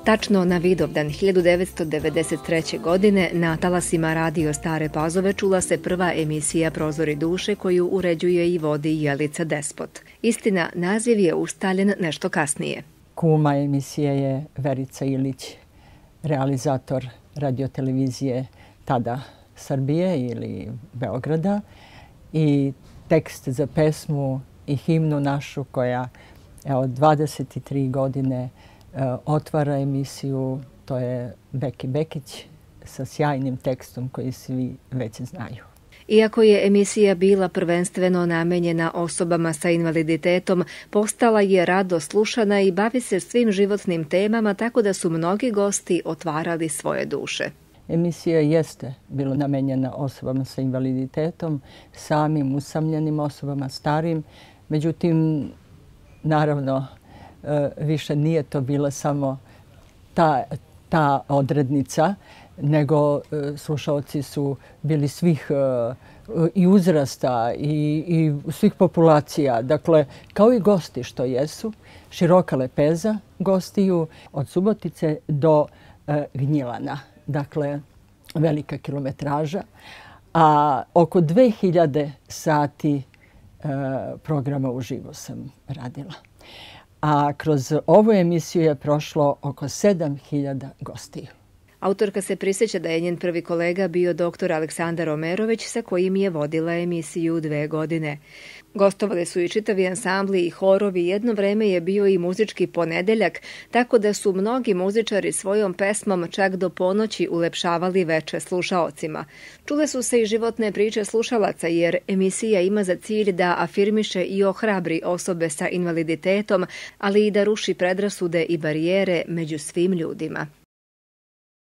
Tačno na Vidovdan 1993. godine na talasima Radio Stare Pazove čula se prva emisija Prozori duše koju uređuje i vodi Jelica Despot. Istina, naziv je ustaljen nešto kasnije. Kuma emisije je Verica Ilić, realizator radiotelevizije tada Srbije ili Beograda, i tekst za pesmu i himnu našu koja 23 godine otvara emisiju, to je Beki Bekić sa sjajnim tekstom koji svi već znaju. Iako je emisija bila prvenstveno namenjena osobama sa invaliditetom, postala je rado slušana i bavi se svim životnim temama, tako da su mnogi gosti otvarali svoje duše. Emisija jeste bila namenjena osobama sa invaliditetom, samim usamljenim osobama, starim. Međutim, naravno, više nije to bila samo ta odrednica, nego slušaoci su bili svih i uzrasta i svih populacija. Dakle, kao i gosti što jesu, široka lepeza gostiju od Subotice do Gnjilana. Dakle, velika kilometraža, a oko 2000 sati programa uživo sam radila. A kroz ovu emisiju je prošlo oko 7000 gostiju. Autorka se prisjeća da je njen prvi kolega bio dr. Aleksandar Omerović, sa kojim je vodila emisiju 2 godine. Gostovali su i čitavi ansambli i horovi, jedno vreme je bio i muzički ponedeljak, tako da su mnogi muzičari svojom pesmom čak do ponoći ulepšavali veče slušaocima. Čule su se i životne priče slušalaca, jer emisija ima za cilj da afirmiše i ohrabri osobe sa invaliditetom, ali i da ruši predrasude i barijere među svim ljudima.